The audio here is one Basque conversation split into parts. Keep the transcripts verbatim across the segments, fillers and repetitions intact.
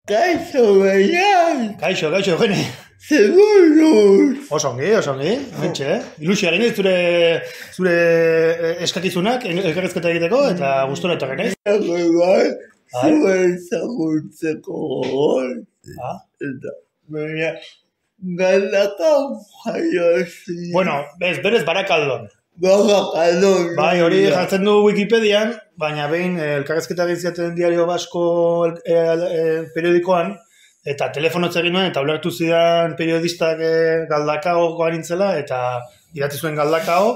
Kaixo, Baian! Kaixo, kaixo, Eugene. Seguruz! Osongi, osongi, mentxe, eh? Ilusia gine, zure, zure eskakizunak, elkarrezketa egiteko, eta gustora etorri naiz. Bai, bai, zuen zagutzeko gogor. Eta, baina, galdakau jaio zinen. Bueno, bez, berez Barakaldon. Barakaldon. Bai, hori jartzen du Wikipedian, baina behin elkarrezketa egitzaten Diario Basko periodikoan, eta telefono egin nuen, eta ulertu zidan periodistak Galdakao goa nintzela, eta idatzi zuen Galdakao,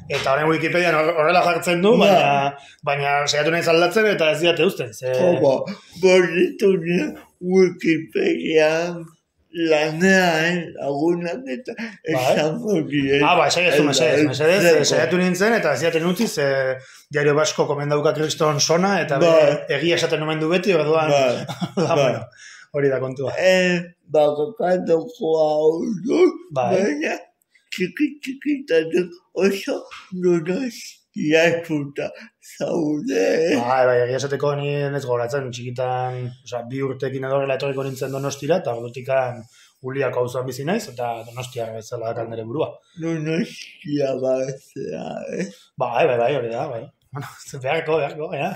eta horren Wikipedian horrela jartzen du, baina, baina saiatu nahi aldatzen, eta ez diate uzten. Joba, borritu nien Wikipedian lanean lagunak eta esango dien. Ah, ba, esaiazu, mesedez, mesedez, saiatu nintzen, eta ez diaten utziz, Diario Basko komendauka kriston sona, eta egia esaten omen du beti, orduan, bueno, hori da kontua. Bakakatoko hau du, baina txiki-txikitatik oso nunaz jatuta zaude. Bai, bai, egia esateko nien ez goratzen, txikitan, oza, bi urtekin edorrela etorriko nintzen Donostira, eta ordutik Uliako auzoan bizi naiz, eta Donostia bezala dakan nire burua. Donostia bazea, eh? Bai, bai, bai, hori da, bai. Bueno, beharko, beharko, ja.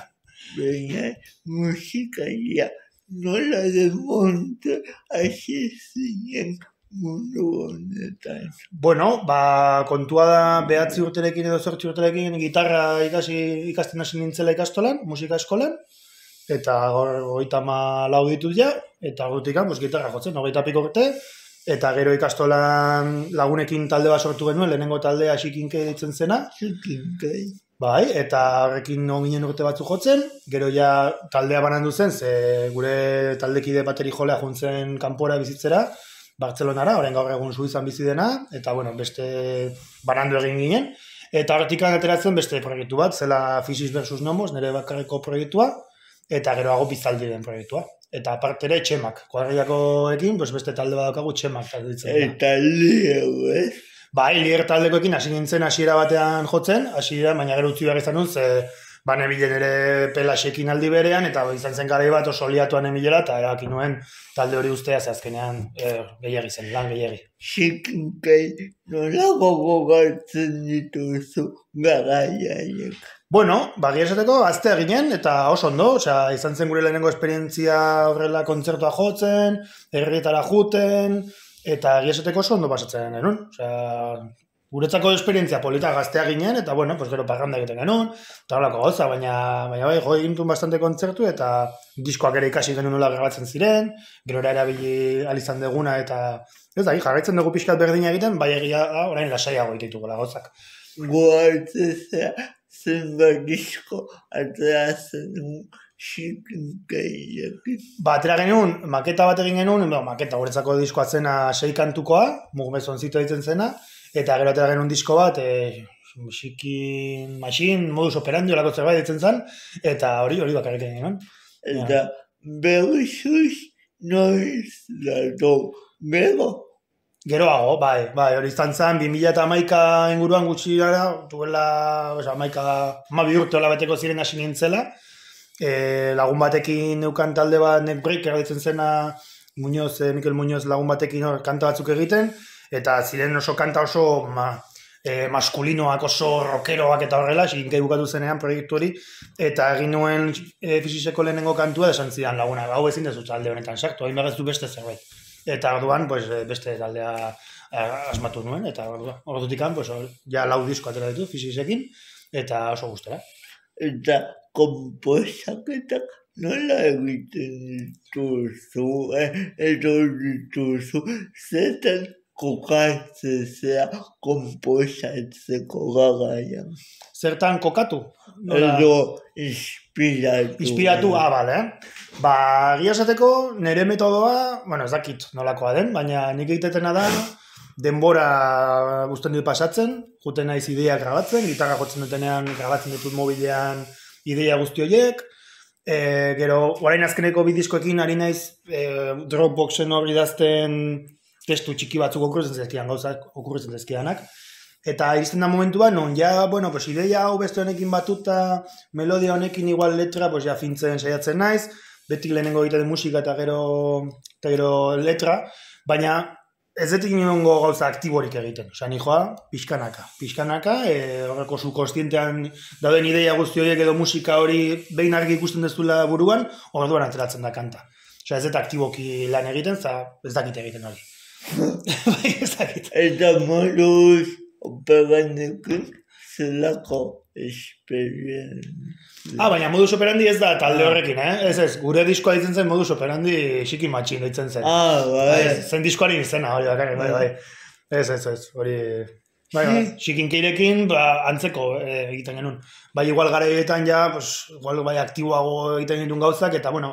Baina, musikaria nola de monte hasi zinen mundu honetan. Bueno, ba, kontua da behatzi urterekin edo zortzi urterekin gitarra ikasi, ikasten hasi nintzela ikastolan, musika eskolan, eta hogeita hamalau ditut ja, eta ordutik pues, gitarra jotzen, hogeita piko urte, eta gero ikastolan lagunekin talde bat sortu genuen, lehenengo taldea Xikinkei ditzen zena. Xikinkei. Bai, eta horrekin ginen urte batzu jotzen, gero ja taldea banandu zen, ze gure taldekide bateri jolea juntzen kanpora bizitzera, Bartzelonara, orain gaur egun Suizan bizi dena, eta bueno, beste banandu egin ginen, eta horretik ateratzen beste proiektu bat, zela Physis versus Nomos, nire bakarreko proiektua, eta geroago Bizaldi den proiektua. Eta aparte ere Txemak, kuadrillakoekin, pues beste talde badaukagu Txemak talde ditzen. Eta lieu, eh? Bai, lier taldekoekin hasi nintzen hasiera batean jotzen, hasiera, baina gero utzi behar izan dut, ze bane bilen ere Pelaxekin aldi berean, eta izan zen garai bat oso liatuan emilera, eta erabaki nuen talde hori ustea, ze azkenean er, gehiagi zen, lan gehiagi. Xikinkei nola gogoratzen dituzu garaiaiek? Bueno, bagia esateko, gaztea ginen, eta oso ondo, osea, izan zen gure lehenengo esperientzia horrela kontzertua jotzen, herrietara juten, eta egia esateko oso ondo pasatzen genuen, osea, guretzako esperientzia polita gaztea ginen, eta bueno, pues gero parranda egiten genuen, eta horrelako gauza, baina, baina bai, jo egintun bastante kontzertu, eta diskoak ere ikasi genuen nola grabatzen ziren, gero erabili alizan deguna, eta ez da, jarraitzen dugu pixkat berdina egiten, bai egia da, orain lasaiago egitituko gauzak. Goatzea zenbat disko ateratzen du Xikinkeiek. Ba, atera genuen, maketa bat egin genuen, no, maketa guretzako diskoa zena sei kantukoa, Mugmezoncito ditzen zena, eta gero atera genuen disko bat, e, Xikin Machine, modus operandi olako zerbait ditzen zen, eta hori hori bakarrik egin genuen. Eta berrizuz noiz dato, gero? Geroago, bai, bai, hori izan zen, bi mila hamaika inguruan gutxi gara, duela, hamaika, hamabi urte hola beteko ziren hasi nintzela, e, lagun batekin neukan talde bat Neckbreaker ditzen zena, Muñoz, eh, Mikel Muñoz lagun batekin hor kanta batzuk egiten, eta ziren oso kanta oso ma, e, maskulinoak, oso rockeroak eta horrela, Xikinkei bukatu zenean proiektu hori, eta egin nuen e, Physiseko lehenengo kantua, esan zidan laguna, hau ezin dezu talde honetan sartu, hain behar ez du beste zerbait. Eta orduan, pues, beste taldea asmatu nuen, eta ordutik pues, ja lau disko atera ditu Physisekin, eta oso gustera. Eta komposaketak nola egiten dituzu, edo dituzu, zetan kokatzea komposatzeko garaian. Zertan kokatu? Edo inspiratu. Inspiratu, ah, bale, eh? Ba, egia esateko, nire metodoa, bueno, ez dakit nolakoa den, baina nik egiteetena da, denbora guztien dut pasatzen, juten naiz ideia grabatzen, gitarra jotzen dutenean grabatzen ditut mobilean ideia guzti horiek, e, gero, orain azkeneko bidiskoekin ari naiz e, Dropboxen hori idazten testu txiki batzuk okurritzen zezkidan, gauzak okurritzen zezkidanak, eta iristen da momentua, non ja, bueno, pues ideia hau beste honekin batuta, melodia honekin igual letra, pues ja fintzen saiatzen naiz, beti lehenengo egiten den musika eta gero, eta gero letra, baina ez detik niongo gauza aktiborik egiten. Osa, nijoa, pixkanaka. Pixkanaka, e, horreko zu kostientean dauden ideia guzti horiek edo musika hori behin argi ikusten dezula buruan, orduan ateratzen da kanta. Osa, ez dut aktiboki lan egiten, za ez dakit egiten hori. Bai, ez dakit. Eta moduz operandekin zelako esperientzia. Ah, baina modus operandi ez da talde horrekin, eh? Ez ez, gure diskoa ditzen zen modus operandi xiki matxin ditzen zen. Ah, bai. Zen diskoari izena, hori bakarrik, bai, bai. Ez, ez, ez, hori... Bai, bai, xikinkeirekin, ba, antzeko eh, egiten genuen. Bai, igual garaietan ja, pues, igual bai aktiboago egiten genuen gauzak, eta, bueno,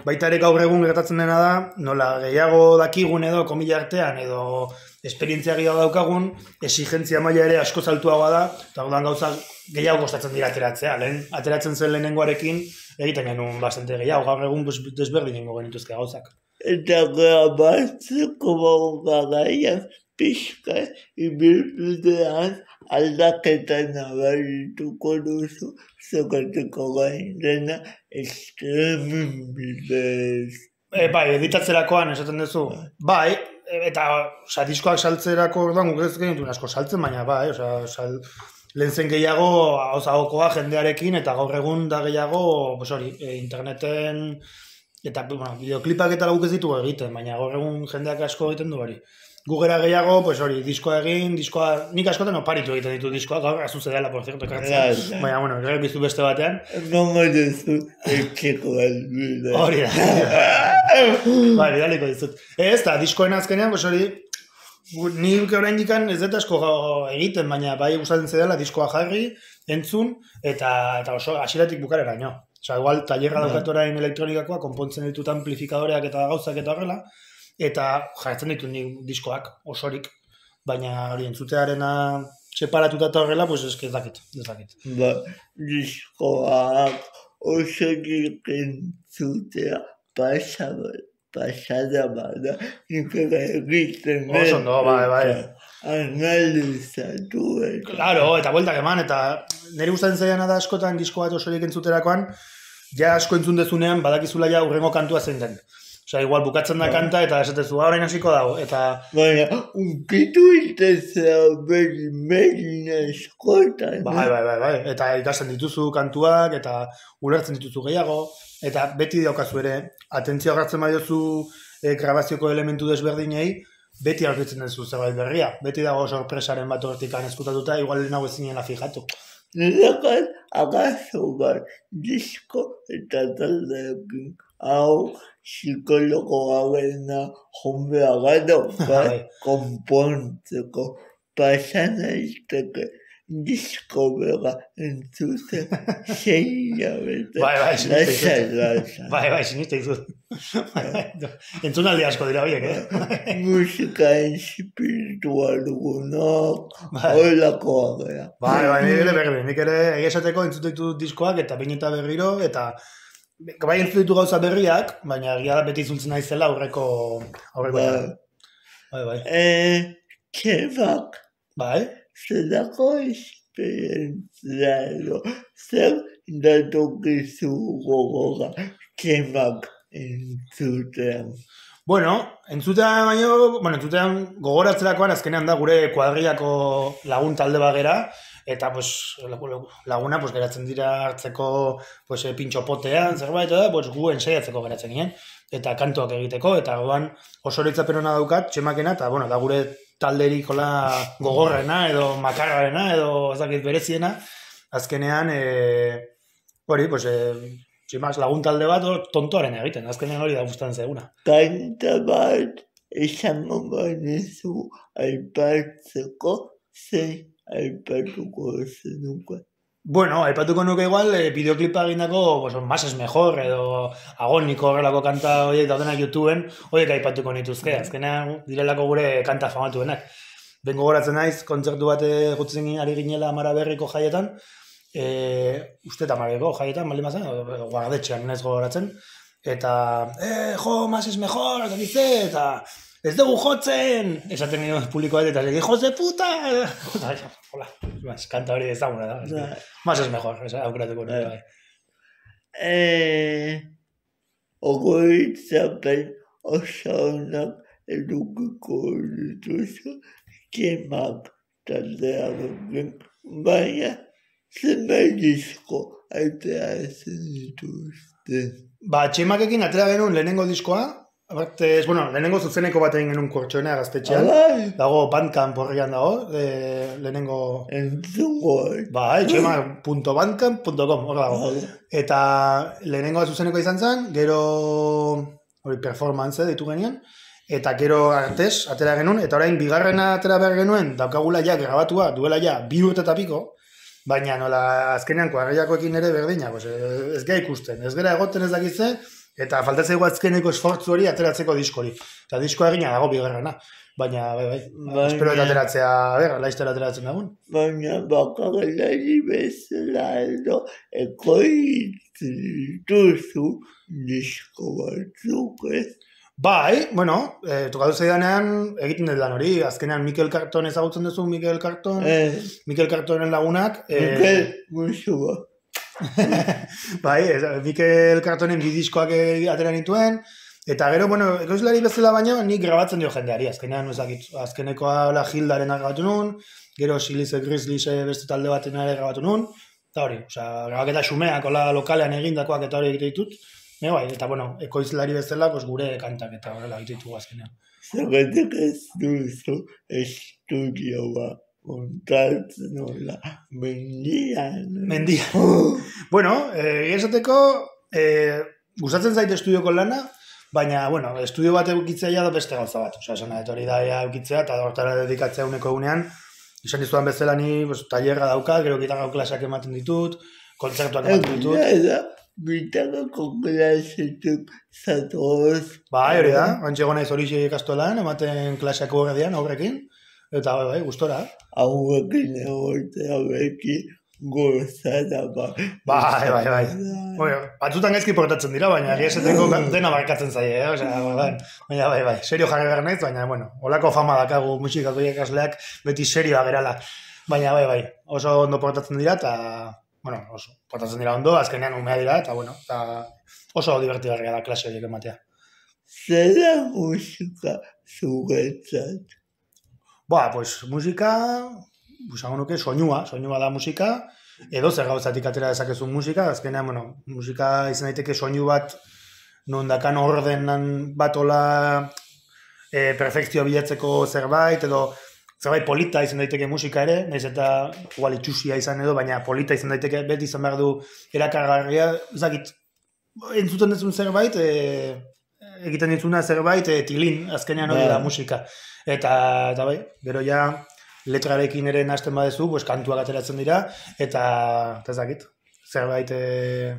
baita ere gaur egun gertatzen dena da, nola gehiago dakigun edo, komila artean, edo esperientzia gehiago daukagun, exigentzia maila ere asko altuagoa da, eta orduan gauza gehiago kostatzen dira ateratzea. Lehen, ateratzen zen lehenengoarekin, egiten genuen bastante gehiago, gaur egun pues, desberdinengo genituzke gauzak. Eta grabatzeko garaian pixka ibilbidean aldaketa nabarituko duzu, zokateko gain dena streaming bidez. E, bai, editatzerakoan esaten duzu. Bai, eta oza, diskoak saltzerako orduan guk ez genituen asko saltzen, baina bai, oza, sal, lehen zen gehiago hauzagokoa jendearekin, eta gaur egun da gehiago, pues hori, e, interneten, eta bueno, bideoklipak eta guk ez ditugu egiten, baina gaur egun jendeak asko egiten du hori. Gugera gehiago, pues hori, diskoa egin, diskoa, nik askotan oparitu egiten ditu diskoa, gaur azuze dela, por cierto, ekartzen. Baina, bueno, gero bizu beste batean. Nongo duzu, etxeko albide. Hori da. Bai, bidaliko dizut. Ez, eta diskoen azkenean, pues hori, nik orain dikan ez dut asko egiten, baina bai gustatzen zedela diskoa jarri, entzun, eta, eta oso hasieratik bukareraino. Osa, igual, taierra daukat orain elektronikakoa, konpontzen ditut amplifikadoreak eta gauzak eta horrela, eta jartzen ditu nik diskoak osorik, baina hori entzutearena separatuta eta horrela, pues ez dakit, ez dakit. Ba, diskoak osorik entzutea pasada, pasada bada, nik egiten. Oso ondo, bai, bai. Analizatu eta. Claro, eta bueltak eman, eta nire gustatzen zaiana da askotan disko bat osorik entzuterakoan, ja asko entzun dezunean badakizula ja urrengo kantua zein den. Osa, igual bukatzen da kanta eta esatezu, orain hasiko dago, eta... Baina, unkitu itezea beri merina eskotan. Bai, bai, bai, bai, eta ikasten dituzu kantuak, eta ulertzen dituzu gehiago, eta beti daukazu ere, atentzio hartzen badiozu e, grabazioko elementu desberdinei, beti aurkitzen duzu zerbait berria, beti dago sorpresaren bat hortikan eskutatuta, igual nago ezinela fijatu. Nirekat, agazo bat, disko eta taldeekin, hau, psikologo hauena jombea gado, bai, konpontzeko, pasan aizteke, disko bera entzuzen, zeina bete. Bai, bai, siniste izut. Bai, bai, siniste izut. Entzunaldi asko dira horiek, eh? Musika espiritual dugunak, holakoa gara. Bai, bai, nik ere berri, nik ere egiesateko entzutetu diskoak eta bain eta berriro, eta bai entzutetu gauza berriak, baina egia da beti izultzen naizela aurreko aurreko. Bai, bai. Eh, txebak. Bai. Zerako esperientzia edo, zer datokizu gogora txebak entzutean. Bueno, entzutean baino, bueno, entzutean gogoratzerakoan azkenean da gure kuadriako lagun talde bagera, eta pues, laguna pues, geratzen dira hartzeko pues, pintxo potean, zerbait, eta pues, gu ensaiatzeko geratzen ginen, eta kantoak egiteko, eta goan oso horitzapen hona daukat, txemakena, eta bueno, da gure talderik hola gogorrena, edo makarrarena, edo ezakit bereziena, azkenean, e, hori, pues, e, txemak lagun talde bat tontoaren egiten, azkenean hori da guztan zeguna. Kanta bat, esango banezu aipatzeko, zein aipatuko zenuko. Bueno, aipatuko nuke igual, eh, bideoklipa egindako, pues, más es mejor, edo agoniko horrelako kanta horiek daudenak YouTubeen, horiek aipatuko nituzke, azkenean direlako gure kanta famatuenak. Bengo goratzen naiz, kontzertu bat gutzen ari ginela Amara Berriko jaietan, e, uste eta Amareko jaietan, baldin bazen, guardetxean naiz gogoratzen, eta, eh, jo, más es mejor, eta dize, eta... Ez dugu jotzen! Esaten nio publikoa eta lege, hijos de puta! Hola, kanta hori ezaguna da. Más es mejor, aukeratuko nire bai. Eh, oroitzapen oso onak edukiko dituzu txemak taldearekin, baina zenbait disko ateratzen dituzte. Ba, txemakekin atera genuen lehenengo diskoa, aparte, bueno, lehenengo zuzeneko bat egin genuen Kortxoena gaztetxean, Abai, dago Bandcamp horrian dago, e, lehenengo... entzungo. Ba, txema punto bandcamp punto com, hor dago. Abai. Eta lehenengo zuzeneko izan zen, gero hori performance ditu genian, eta gero artez atera genuen, eta orain bigarrena atera behar genuen, daukagula ja grabatua, duela ja bi urte eta piko, baina nola azkenean kuadrillakoekin ere berdina, pues, ez gara ikusten, ez gara egoten ez dakitze, eta faltatzeko azkeneko esfortzu hori ateratzeko diskori. Eta diskoa egina dago bigarrena, baina bai, bai, Baina- espero eta ateratzea, ber, laiztera ateratzen dagoen. Baina bakarlari bezala edo ekoitzen dituzu disko batzuk, ez? Bai, bueno, e, tokatu zaidanean egiten dut lan hori, azkenean Mikel Carton ezagutzen duzu, Mikel Carton, Eh, Mikel Cartonen lagunak, e, Mikel Musua. bai, ez, Mikel Cartonen bi diskoak e, atera nituen, eta gero, bueno, ekoizlari bezala baino, nik grabatzen dio jendeari, azkenean, ezakit, azkenekoa la Hildaren grabatu nun, gero Silice Grizzlies beste talde baten ere grabatu nun, eta hori, osea, grabaketa xumeak, hola lokalean egindakoak eta hori egite ditut, e, bai, eta bueno, ekoizlari bezala, pues, gure kantak eta horrela egite ditugu azkenean. Zergatik ez duzu estudioa montatzen nola mendian. Mendia. Bueno, eh, esateko, eh, gustatzen zait estudioko lana, baina, bueno, estudio bat eukitzea ja da beste gauza bat. Osea, esan etori da ja eukitzea, eta hortara dedikatzea uneko egunean, izan dizudan bezala ni, pues, tailerra dauka, gero gitarra klaseak ematen ditut, kontzertuak ematen ditut. Egia da, bitarako klasetuk zatoz. Bai, hori da, antxe gona iz hori ikastolan, ematen klaseak horredian, aurrekin, eta bai, bai, gustora. Hauekin egotea beki gozada bat. Bai, bai, bai. Bueno, batzutan gaizki portatzen dira, baina egia esateko dena barkatzen zaie, eh? Osea, baina bai, bai, serio jarri behar naiz, baina, bueno, holako fama dakagu musikako ikasleak beti serioa gerala. Baina, bai, bai, oso ondo portatzen dira, eta, bueno, oso portatzen dira ondo, azkenean umea dira, eta, bueno, eta oso divertigarria da klase horiek ematea. Zer da musika zuretzat? Ba, pues, musika, busango nuke, soinua, soinua da musika, edo zer gauzatik atera dezakezu musika, azkenean, bueno, musika izan daiteke soinu bat, non dakan ordenan bat ola e, perfekzio bilatzeko zerbait, edo zerbait polita izan daiteke musika ere, nahiz eta igual itxusia izan edo, baina polita izan daiteke, beti izan behar du erakargarria, ezakit, entzuten dezun zerbait, e, egiten ditzuna zerbait, e, tilin, azkenean hori da musika. Eta, eta bai, gero ja, letrarekin ere nahasten badezu, pues, kantuak ateratzen dira, eta, eta ezakit, zerbait, e,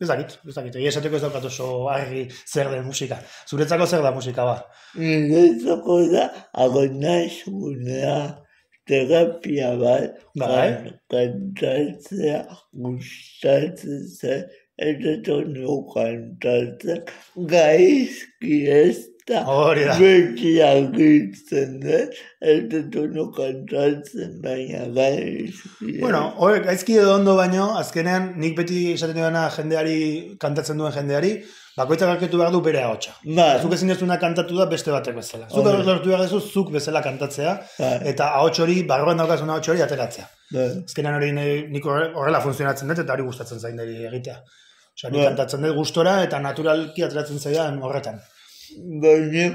ezakit, ezakit, egia esateko ez daukat oso argi zer den musika. Zuretzako zer da musika, ba? Niretzako da, agonasunea, terapia bat, Bai. kantatzea, gustatzen zen, eta tonu kantatzen, gaizki ez da, Hori da. beti agitzen den, eta tonu kantatzen, baina gaizki. Bueno, hori, gaizki edo ondo baino, azkenean nik beti esaten dudana jendeari, kantatzen duen jendeari, bakoitzak arketu behar du bere ahotsa. Ba, Zuk ezin dezuna kantatu da beste batek bezala. Zuk Hori. lortu behar dezu, zuk bezala kantatzea, ba, eta ahots hori, barruan daukazun ahots hori ateratzea. ba. Azkenean hori ni- nik horre- horrela funtzionatzen dut, eta hori gustatzen zain deri egitea. Osea, nik Bai. kantatzen dut gustora, eta naturalki ateratzen zaidan horretan. Baina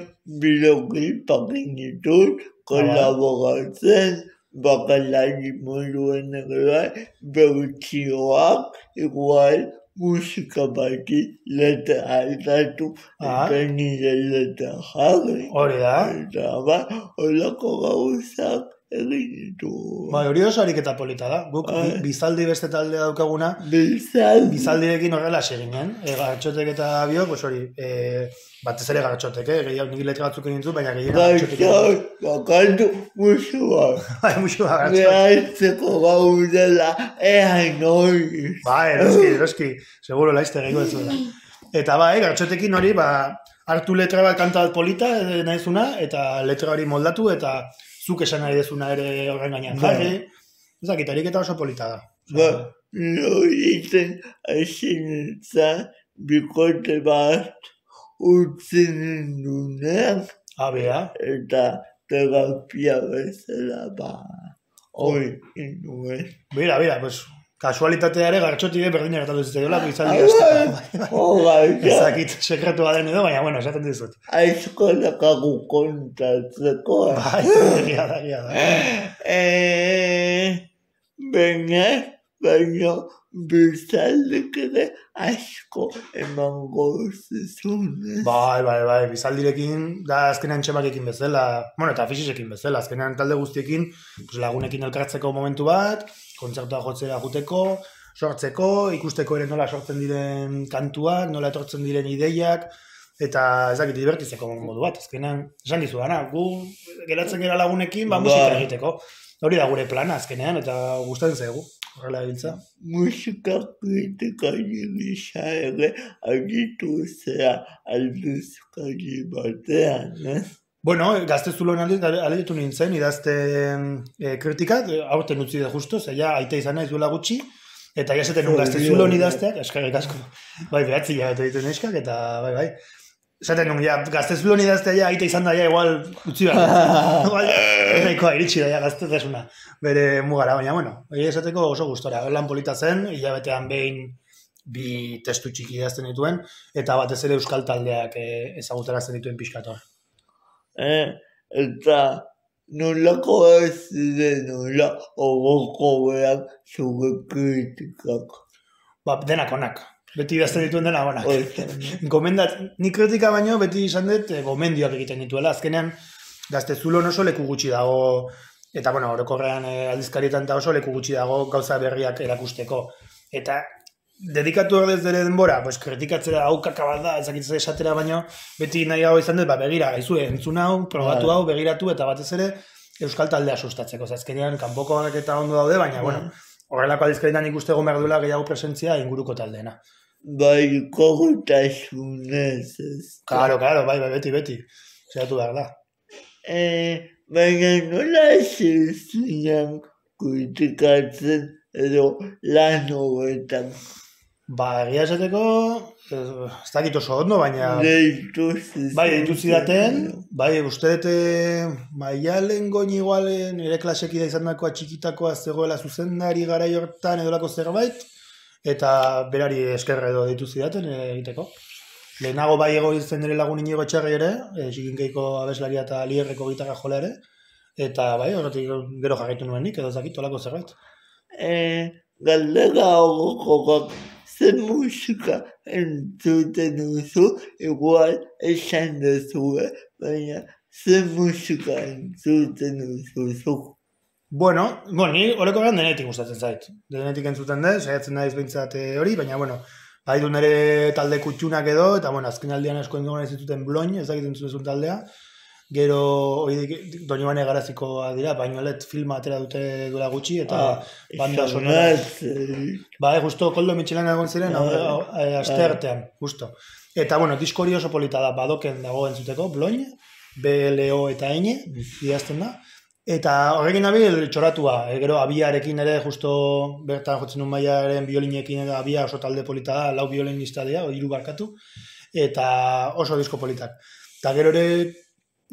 bideoklipak ditut, kolaboratzen, bakalari moduen ere bai, bertsioak, igual musika bati letra aldatu, Ah. eta nire letra jarri. Hori da. Eta ba, holako gauzak egin ditu. Bai, hori oso ariketa polita da. Guk Bai. bi- bizaldi beste taldea daukaguna, Bizal, bizaldirekin horrela seginen, e, gartxotek eta biok, pues hori, e, batez ere gartxotek, eh? Gehiago nik letra batzuk egin zu, baina gehiago gartxotek. gauzak, bakantu musua. Bai, musu da, gartxotek. Behartzeko gaudela, ea noiz. Bai, eroski, eroski, seguro laizte gehiago ez zuela. Eta bai, gartxotekin hori, ba, hartu letra bat kanta bat polita, e, nahizuna, eta letra hori moldatu, eta zuk esan nahi dezuna ere horren gainean Bai. jarri. Ezakit, ariketa oso polita da. Ba, loitzen hasi nintzen, bikote bat utzi nindunean, Abea. eta terapia bezala, ba, hori induen. Bira, bira, pues, kasualitatea ere gartxoti berdina gertatu zitzaiola, izaldi azteko. Oh, bai, Ezakit sekretua den edo, baina, bueno, esaten dizut. aizko lakagu kontatzeko. Bai, egia da, egia da. Eh, baina, baina, bizaldek ere asko emango zizunez. Bai, bai, bai, bizaldirekin, da azkenean txemakekin bezala, bueno, eta fisisekin bezala, azkenean talde guztiekin, pues, lagunekin elkartzeko momentu bat, kontzertua jotzera juteko, sortzeko, ikusteko ere nola sortzen diren kantuak, nola etortzen diren ideiak, eta ez dakit divertitzeko modu bat, azkenean, esan dizu dana, gu geratzen gara lagunekin, ba, musika egiteko. Hori da gure plana azkenean, eta gustatzen zaigu, horrela biltza. Musika kritikari gisa ere agitu zea aldizkari batean, eh? Bueno, gaztezulon aldetu nintzen, idazte e, kritika, aurten utzi da justo, zeia aita izan naiz duela gutxi, eta jaseten nun gaztezulon idazteak, eskarrik asko, bai, behatzi jabatu ditu neskak, eta bai, bai. Zaten nun, ja, gaztezulon idaztea ja, aita izan da, ja, igual, utzi behar. Nahikoa, iritsi da, ja, gaztezuna, bere mugara, baina, bueno, egia esateko oso gustora, lan polita zen, hilabetean behin bi testu txiki idazten dituen, eta batez ere euskal taldeak e, ezagutarazten dituen pixkator. Eh, eta nolako ez ziren nola ogoko behar zure kritikak. Ba, denak onak. Beti idazten dituen dena onak. Gomendat, ni kritika baino beti izan dut e, gomendioak egiten dituela. Azkenean, Gaztezulon oso leku gutxi dago, eta bueno, orokorrean e, aldizkarietan eta oso leku gutxi dago gauza berriak erakusteko. Eta dedikatu ordez dere denbora, pues, kritikatzera hau kaka bat da, ezakitzea esatera baino, beti nahi hau izan dut, ba, begira, gaizu, entzun hau, probatu hau, begiratu, eta batez ere, euskal taldea sustatzeko. Azkenean, kanpokoak eta ondo daude, baina, bueno, horrelako aldizkarietan ikuste egon behar duela gehiago presentzia inguruko taldeena. Bai, kogutasunez ez. Claro, claro, bai, bai, beti, beti. Zeratu behar da. Eh, baina nola ez zinean kritikatzen edo lan horretan. Ba, egia esateko, ez dakit oso ondo, baina... Deitu zizaten. Bai, deitu zidaten, bai, uste dute maialen goin igualen, ere klasekida izan dakoa txikitakoa zegoela zuzendari garai hortan edolako zerbait, eta berari eskerre edo deitu zidaten egiteko. Lehenago bai ego izan dira lagun inigo etxarri ere, e, txikinkeiko abeslaria eta lierreko gitarra jola ere, eta bai, horretik gero jarraitu nuen nik, edo zakit, olako zerbait. Eh, galdera horokokak, zen musika entzuten duzu, igual esan duzue, baina zen musika entzuten duzu. Bueno, bueno, ni horreko gan denetik gustatzen zait. Denetik entzuten dut, saiatzen naiz behintzat hori, baina, bueno, bai du nire talde kutxunak edo, eta, bueno, azken aldean asko engoen ez dituten bloin, ez dakit entzuten taldea. Gero, hori Doñibane Garazikoa dira, Bainolet filma atera dute duela gutxi, eta ah, banda sonora. Ba, justo Koldo Mitxelan egon ziren, ah, aste artean, justo. Eta, bueno, disko hori oso polita da, badoken dago entzuteko, bloin, B L O eta N, idazten da. Eta horrekin nabil txoratua, e, gero abiarekin ere, justo bertan jotzen nun maiaren biolinekin eta abia oso talde polita da, lau biolinista dira, hiru barkatu, eta oso disko politak. Eta gero ere,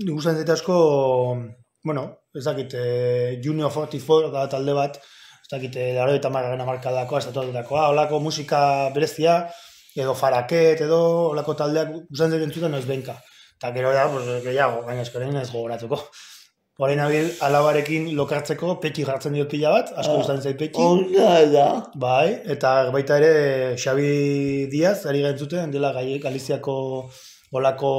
guztan zaite asko, bueno, ez dakit, e, Junior cuarenta y cuatro da talde bat, ez dakit, laro eta margarren amarkadakoa, estatuatakoa, holako musika berezia, edo faraket, edo holako taldeak guztan zaite entzuten noiz benka. Eta gero da, pues, gehiago, baina eskorein ez gogoratuko. Horein abil, alabarekin lokartzeko peti jartzen diot pila bat, asko ah, gustatzen zait peti. Onda da. Bai, eta baita ere Xabi Diaz, ari gaintzuten, dela Galiziako olako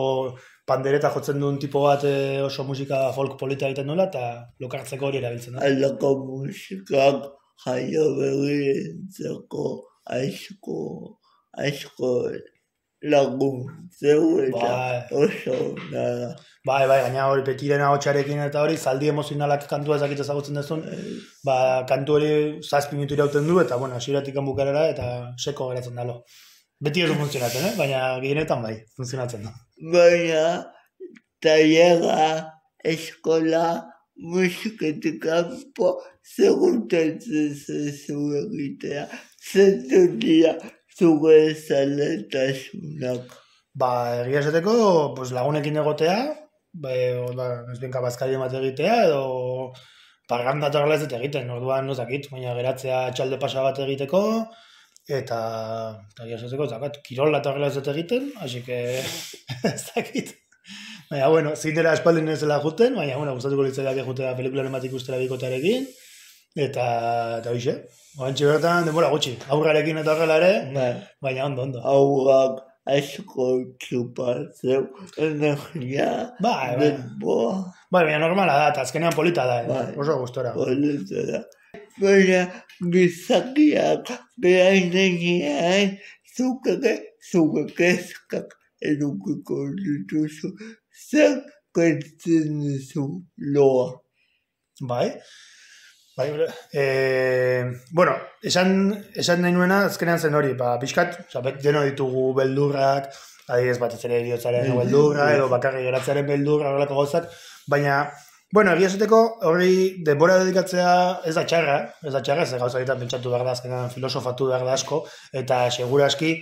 pandereta jotzen duen tipo bat oso musika folk polita egiten duela, eta lokartzeko hori erabiltzen da. Alako musikak jaio berrientzeko aizko, aizko laguntzeu eta oso nada. Bai, bai, gaina hori petiren ahotsarekin eta hori, zaldi emozionalak kantua ezakit ezagutzen dezun, ba, kantu hori zazpi minutu irauten du, eta, bueno, hasieratik bukarera, eta seko geratzen dalo. Beti ez du funtzionatzen, eh? Baina gehienetan bai, funtzionatzen da. Baina, tailega, eskola, musiketik kanpo, segurtatzen zezu egitea, zentu dira, zure zaletasunak? Ba, egia esateko, pues, lagunekin egotea, ba, ba, ezbenka bazkari bat egitea, edo parranda eta horrela ez dut egiten, orduan nozakit, baina geratzea txalde pasa bat egiteko, eta, eta egia esateko, zakat, kirola eta horrela ez dut egiten, así que, ez dakit. Baina, bueno, zinera espaldin ez dela juten, baina, bueno, gustatuko litzaidak jutea pelikularen bat ikustera bikotearekin, eta, eta hoxe, oantxe bertan, denbora gutxi, aurrarekin eta horrela ere, Bai, baina ondo, ondo. aurrak asko txupatzeu, energia, Bai, bai. denboa, Bai, baina normala da, eta azkenean polita da, eh? Bai. Oso gustora. polita da. Baina gizakiak behainean zuk ere zure kezkak edukiko dituzu. Zer kentzen duzu loa? Bai. Bai, eh, bueno, esan, esan nahi nuena azkenean zen hori, ba, pixkat, oza, bet, deno ditugu beldurrak, adibidez batez ere heriotzaren beldurra, edo bakarrik geratzearen beldurra, horrelako gauzak, baina, bueno, egia esateko hori denbora dedikatzea ez da txarra, ez da txarra, ez da gauza egiten pentsatu behar da, azkenean filosofatu behar da asko, eta seguraski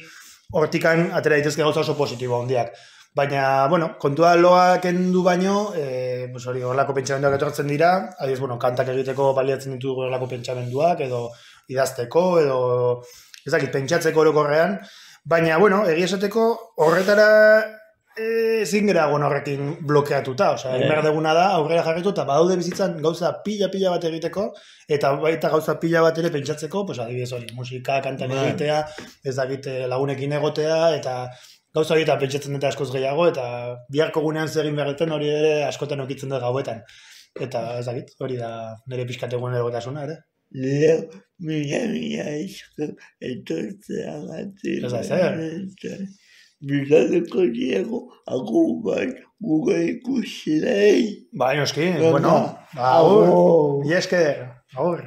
hortikan atera dituzke gauza oso positibo handiak. Baina, bueno, kontua loa kendu baino, e, pues hori horrelako pentsamenduak etortzen dira, adibidez, bueno, kantak egiteko baliatzen ditugu horrelako pentsamenduak, edo idazteko, edo ez dakit, pentsatzeko orokorrean, baina, bueno, egia esateko horretara ezin gara egon horrekin blokeatuta, osea, egin behar duguna da, aurrera jarritu, eta badaude bizitzan gauza pila-pila bat egiteko, eta baita gauza pila bat ere pentsatzeko, pues adibidez hori, musika, kantak egitea, ez dakit lagunekin egotea, eta gauza hori eta pentsatzen dute askoz gehiago, eta biharko gunean zer egin behar duten hori ere askotan okitzen dut gauetan. Eta ez dakit, hori da nire pixkat egun egotasuna, ere? Leo, mila, mila esker etortzea gati. Ez da, zer? Bilateko diego, agur bat, gure ikusilei. Bai, noski, Venga, bueno, agur, agur. mila esker, agur.